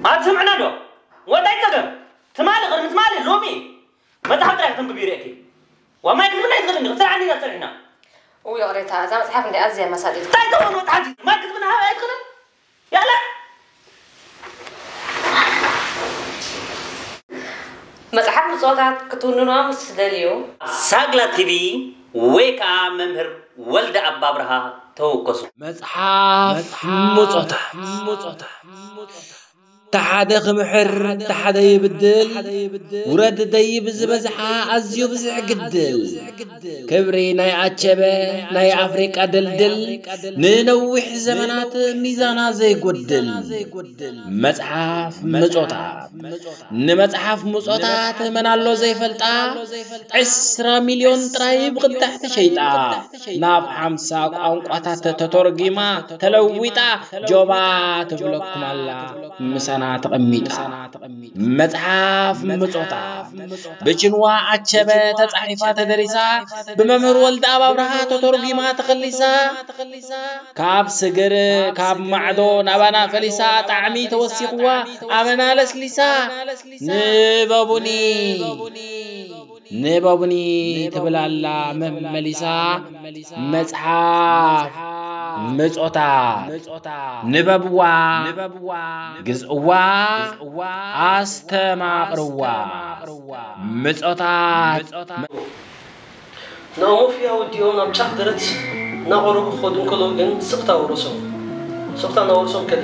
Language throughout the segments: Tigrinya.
ኣትስምዕና ዶ? ወዳይ ጸገም ትማሊ ቅድሚ ትማሊ ሎሚ መጽሓፍ ጥራይ ከተንብብ ይርእየኪ። ዋማይ ክትብልና ይትኽእል እንዲ ክትሰርዓኒ ኢና ጸኒሕና። እው ይቕሬታ፣ እዛ መጽሓፍ እንዲ ኣዝያ መሳጢት። እንታይ ትኸውን መጽሓፍ እዩ? ማይ ክትብልና ሃብ ኣይትኽእልን? ያላ! መጽሓፍ ብጾታት ክትውንኖ ምስ ትደልዩ። ሳግላ ቲቪ ወይ ከዓ መምህር ወልደ ኣባብርሃ ተወከሱ። መጽሓፍ ሙጾታት። ተሓደ ክምሕር፣ ተሓደ ይብድል፣ ውረድ ደይብ ዝበዝሓ ኣዝዩ ብዙሕ ግድል። ክብሪ ናይ ኣቸበ፣ ናይ ኣፍሪቃ ድልድል፣ ንነዊሕ ዘመናት ሚዛና ዘይጎድል። መጽሓፍ ምጾታት። ንመጽሓፍ ምጾታት መን ኣሎ ዘይፈልጣ? ዕስራ ሚልዮን ጥራይ ብቕዳሕ ተሸይጣ። ናብ ሓምሳ ቋንቋታት ተተርጒማ፣ ተለዊጣ፣ ጆባ ትብለኩም ኣላ፣ ምሳና ተቐሚጣ። መጽሓፍ ምጾታት ብችንዋ ኣቸበ ተጻሒፋ ተደሪሳ፣ ብመምህር ወልደኣብ ኣብርሃ ተተርጒማ ተኸሊሳ፣ ካብ ስግር ካብ ማዕዶ ናባና ፈሊሳ፣ ጣዕሚ ተወሲኽዋ ኣመና ለስሊሳ። ንበቡኒ፣ ንበቡኒ ትብል ኣላ መመሊሳ። መጽሓፍ ምጾታት ንበብዋ፣ ግዝእዋ፣ ኣስተማቕርዋ። ምጾታት ንኣሞፍያ ወዲኦም ናብ ጫፍ ደረት እናቐረቡ ክኸዱ እንከለዉ ግን ስቕታ ወረሶም። ስቕታ እናወረሶም ከደ።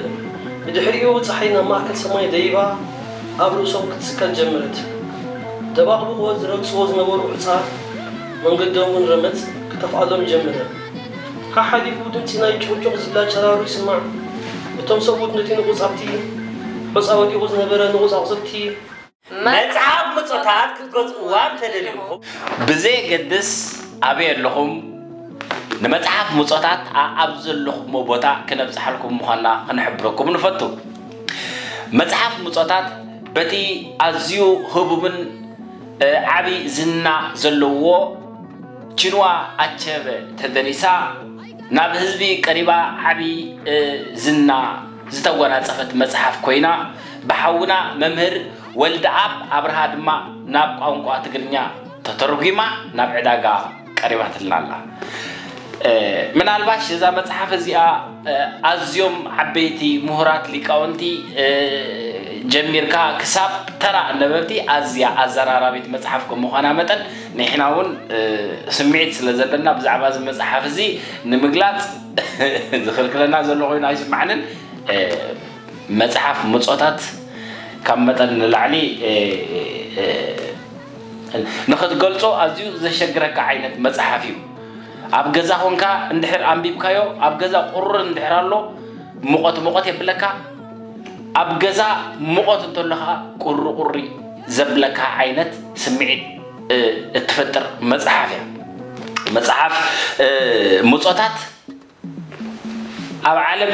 ብድሕሪኡ ጸሓይ ናብ ማእከል ሰማይ ደይባ ኣብ ርእሶም ክትስቀል ጀመረት። ደባቕቡቕወ ዝረግጽዎ ዝነበሩ ሑጻ መንገዶም እውን ረመጽ ክጠፍኣሎም ጀመረ። ሓሓሊፉ ድምጺ ናይ ጩቕጩቕ ዝብላ ጨራሩ ይስማዕ። እቶም ሰብኡት ነቲ ንቑጽ ኣብቲ ሑጻ ወዲቑ ዝነበረ ንቑጽ ኣቑጽልቲ መጽሓፍ ምጾታት ክትገዝእዋ እንተደሊኹም። ብዘየገድስ ኣበይ ኣለኹም፣ ንመጽሓፍ ምጾታት ኣኣብ ዘለኹሞ ቦታ ክነብጽሓልኩም ምዃንና ክንሕብረኩም ንፈቱ። መጽሓፍ ምጾታት በቲ ኣዝዩ ህቡብን፣ እ፣ ዓቢ ዝና ዘለዎ ችንዋ ኣቸበ ተደሪሳ፣ ናብ ህዝቢ ቀሪባ ዓቢ፣ እ፣ ዝና ዝተጎናጸፈት መጽሓፍ ኮይና፣ ብሓውና መምህር ወልደኣብ ኣብርሃ ድማ ናብ ቋንቋ ትግርኛ ተተርጒማ ናብ ዕዳጋ ቀሪባትልና ኣላ። እ፣ ምናልባሽ እዛ መጽሓፍ እዚኣ፣ እ፣ ኣዝዮም ዓበይቲ ምሁራት ሊቃውንቲ፣ እ፣ ጀሚርካ ክሳብ ተራ ኣነበብቲ ኣዝያ ኣዘራራቢት መጽሓፍ ከም ምዃና መጠን፣ ንሕና እውን፣ እ፣ ስምዒት ስለ ዘለና ብዛዕባ እዚ መጽሓፍ እዚ ንምግላጽ ዝኽልክለና ዘሎ ኮይኑ ኣይስማዕንን። እ፣ መጽሓፍ ምጾታት ካብ መጠን ንላዕሊ፣ እ፣ እ፣ ንኽትገልጾ ኣዝዩ ዘሸግረካ ዓይነት መጽሓፍ እዩ። ኣብ ገዛ ኾንካ እንድሕር ኣንቢብካዮ፣ ኣብ ገዛ ቁሪ እንድሕር ኣሎ፣ ሙቐት ሙቐት የብለካ። ኣብ ገዛ ሙቐት እንተሎ ኸዓ ቁሪ ቁሪ ዘብለካ ዓይነት ስምዒት፣ እ፣ እትፈጥር መጽሓፍ እያ። መጽሓፍ፣ እ፣ ምጾታት ኣብ ዓለም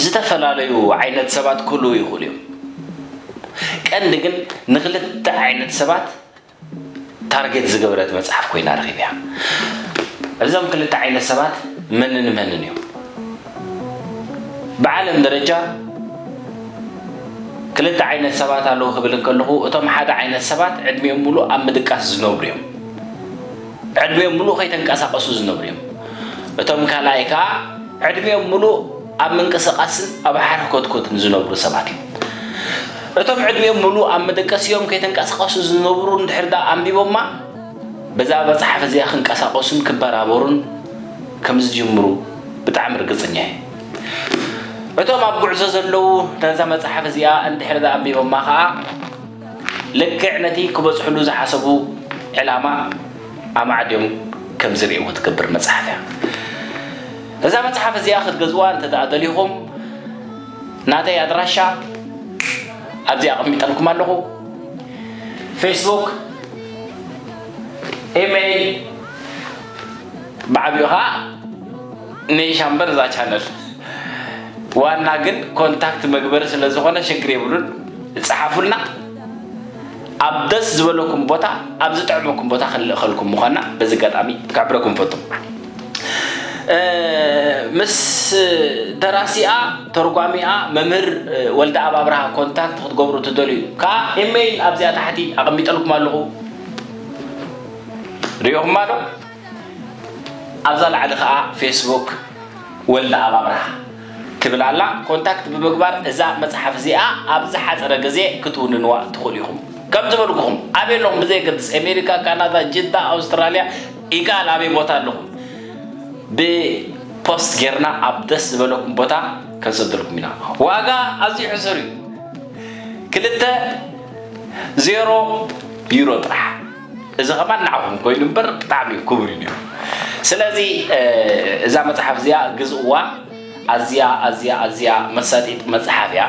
ዝተፈላለዩ ዓይነት ሰባት ክህልዉ ይኽእሉ እዮም። ቀንዲ ግን ንኽልተ ዓይነት ሰባት ታርጌት ዝገበረት መጽሓፍ ኮይና ረኺበያ። እዞም ክልተ ዓይነት ሰባት መንን መንን እዮም? ብዓለም ደረጃ ክልተ ዓይነት ሰባት ኣለዉ ክብል እንከለኹ፣ እቶም ሓደ ዓይነት ሰባት ዕድሚኦም ሙሉእ ኣብ ምድቃስ ዝነብሩ እዮም። ዕድሚኦም ሙሉእ ከይተንቀሳቐሱ ዝነብሩ እዮም። እቶም ካልኣይ ከኣ ዕድሚኦም ሙሉእ ኣብ ምንቅስቓስን ኣብ ሓርኮትኮትን ዝነብሩ ሰባት እዮም። እቶም ዕድሚኦም ሙሉእ ኣብ መደቀሲኦም ከይተንቀሳቐሱ ዝነብሩ እንድሕር ደኣ ኣንቢቦማ፣ በዛ መጽሓፍ እዚኣ ክንቀሳቐሱን ክበራበሩን ከም ዝጅምሩ ብጣዕሚ ርግጽኛ እየ። እቶም ኣብ ጉዕዞ ዘለዉ ነዛ መጽሓፍ እዚኣ እንድሕር ደኣ ኣንቢቦማ ኸኣ፣ ልክዕ ነቲ ክበጽሕሉ ዝሓሰቡ ዕላማ ኣማዕድዮም ከም ዝርእይዎ ትገብር መጽሓፍ እያ። እዛ መጽሓፍ እዚኣ ክትገዝዋ እንተ ደኣ ደሊኹም፣ ናተይ ኣድራሻ ኣብዚ ኣቐሚጠልኩም ኣለኹ። ፌስቡክ፣ ኢሜይል፣ ብዓቢኡ ኸኣ ነይ ሻምበር እዛ ቻነል ዋና ግን ኮንታክት መግበሪ ስለ ዝኾነ ሽግር የብሉን። ጸሓፉልና ኣብ ደስ ዝበለኩም ቦታ ኣብ ዝጥዕመኩም ቦታ ክንልእኸልኩም ምዃንና በዚ ኣጋጣሚ ክሕብረኩም ፈቱ። ምስ ደራሲኣ ተርጓሚኣ መምህር ወልደ ኣብ ኣብርሃ ኮንታክት ክትገብሩ ትደልዩ ከዓ ኢሜይል ኣብዚኣ ታሕቲ ኣቐሚጠልኩም ኣለኹ። ሪኦኹማ ዶ? ኣብዛ ላዕሊ ከዓ ፌስቡክ ወልደ ኣብ ኣብርሃ ትብል ኣላ። ኮንታክት ብምግባር እዛ መፅሓፍ እዚኣ ኣብ ዝሓፀረ ግዜ ክትውንንዋ ትኽእሉ ኢኹም። ከም ዝበልኩኹም ኣበይ ኣለኹም ብዘየገድስ ኣሜሪካ፣ ካናዳ፣ ጅዳ፣ ኣውስትራልያ፣ ኢጋል ኣበይ ቦታ ኣለኹም ብፖስት ጌርና ኣብ ደስ ዝበለኩም ቦታ ከንሰደልኩም ኢና። ዋጋ ኣዝዩ ሕሱር እዩ። ክልተ ዜሮ ዩሮ ጥራሕ። እዚ ከማን ንዓኹም ኮይኑ እምበር ብጣዕሚ ክቡር እዩ። ስለዚ እዛ መፅሓፍ እዚኣ ግዝእዋ። ኣዝያ ኣዝያ ኣዝያ መሳጢት መፅሓፍ እያ።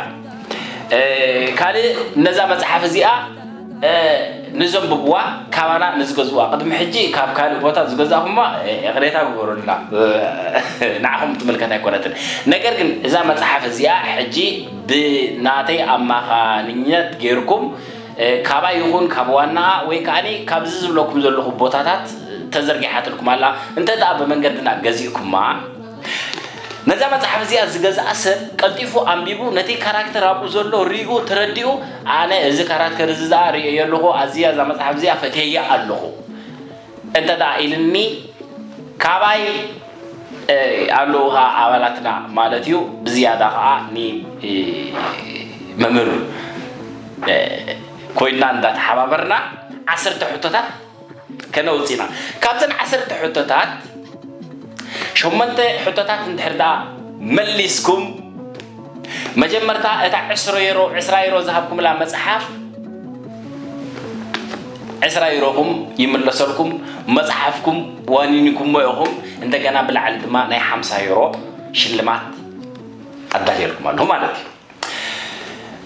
ካልእ ነዛ መፅሓፍ እዚኣ ንዘንብብዋ ካባና ንዝገዝዋ ቅድሚ ሕጂ ካብ ካልእ ቦታ ዝገዛኹማ ይቕሬታ ግበሩልና። ንዓኹም ትምልከት ኣይኮነትን። ነገር ግን እዛ መፅሓፍ እዚኣ ሕጂ ብናተይ ኣማኻንኘት ጌርኩም ካባይ ይኹን ካብ ዋናኣ ወይ ከዓኒ ካብዚ ዝብለኩም ዘለኹ ቦታታት ተዘርጊሓትልኩም ኣላ። እንተ ደኣ ብመንገድና ገዚእኩማ ነዛ መጽሓፍ እዚኣ ዝገዝኣ ሰብ ቀልጢፉ ኣንቢቡ ነቲ ካራክተር ኣብኡ ዘሎ ሪኡ ተረዲኡ ኣነ እዚ ካራክተር እዚ ደኣ ርእየ ኣለኹ ኣዝያ እዛ መጽሓፍ እዚኣ ፈትየያ ኣለኹ እንተ ደኣ ኢልኒ ካባይ ኣለዉ ከዓ ኣባላትና ማለት እዩ። ብዝያዳ ከዓ ንመምህር ኮይንና እንዳተሓባበርና ዓሰርተ ሕቶታት ከነውፅእ ኢና። ካብዘን ዓሰርተ ሕቶታት ሸሞንተ ሕቶታት እንድሕር ደኣ መሊስኩም መጀመርታ እታ ዕስራ ዩሮ ዕስራ ዩሮ ዝሃብኩምላ መፅሓፍ ዕስራ ዩሮኹም ይምለሰልኩም። መፅሓፍኩም ዋኒንኩሞ ኢኹም። እንደገና ብላዕሊ ድማ ናይ ሓምሳ ዩሮ ሽልማት ኣዳልየልኩም ኣለኹ ማለት እዩ።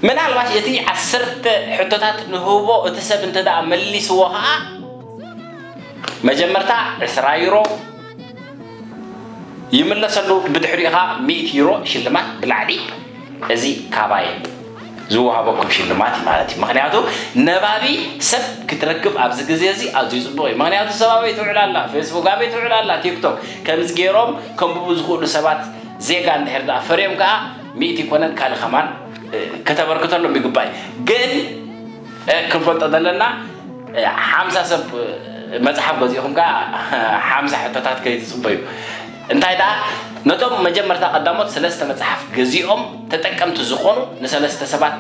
ምናልባት እቲ ዓሰርተ ሕቶታት ንህቦ እቲ ሰብ እንተ ደኣ መሊስዎ ኸዓ መጀመርታ ዕስራ ዩሮ ይምለሰሉ፣ ብድሕሪኡ ኸዓ ሚእቲ ዩሮ ሽልማት ብላዕሊ። እዚ ካባይ ዝወሃበኩም ሽልማት እዩ ማለት እዩ። ምኽንያቱ ነባቢ ሰብ ክትረክብ ኣብዚ ግዜ እዚ ኣዝዩ ፅቡቕ እዩ። ምኽንያቱ ሰብ ኣበይ ትውዕል ኣላ፣ ፌስቡክ ኣበይ ትውዕል ኣላ፣ ቲክቶክ ከምዚ ገይሮም ከንብቡ ዝኽእሉ ሰባት ዜጋ እንድሕር ደኣ ፈርዮም ከኣ ሚእቲ ይኮነን ካልእ ከማን ከተበርክተሎም ይግባእ። ግን ክንፈልጦ ዘለና ሓምሳ ሰብ መፅሓፍ ገዚእኹም ከኣ ሓምሳ ሕቶታት ከይትፅበዩ። እንታይ ደኣ ነቶም መጀመርታ ቀዳሞት ሰለስተ መፅሓፍ ገዚኦም ተጠቀምቲ ዝኾኑ ንሰለስተ ሰባት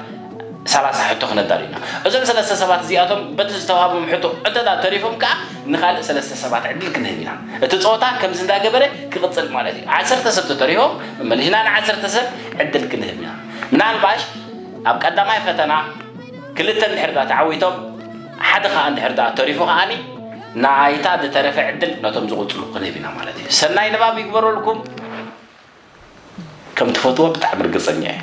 ሰላሳ ሕቶ ክነዳሉ ኢና። እዞም ሰለስተ ሰባት እዚኣቶም በቲ ዝተዋህቦም ሕቶ እንተ ደኣ ተሪፎም ከኣ ንኻልእ ሰለስተ ሰባት ዕድል ክንህብ ኢና። እቲ ፀወታ ከምዚ እንዳገበረ ክቕፅል ማለት እዩ። ዓሰርተ ሰብ ተተሪፎም መመሊስና ንዓሰርተ ሰብ ዕድል ክንህብ ኢና። ምናልባሽ ኣብ ቀዳማይ ፈተና ክልተ እንድሕር ደኣ ተዓዊቶም ሓደ ኸዓ እንድሕር ደኣ ተሪፉ ኸዓኒ ናይታ ዝተረፈ ዕድል ነቶም ዝቕፅሉ ክንህብ ኢና ማለት እዩ። ሰናይ ንባብ ይግበረልኩም። ከም ትፈትዎ ብጣዕሚ ርግፀኛ እየ።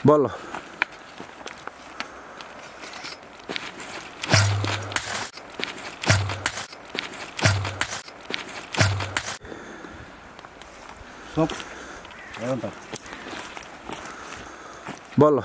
በሎ። በሎ።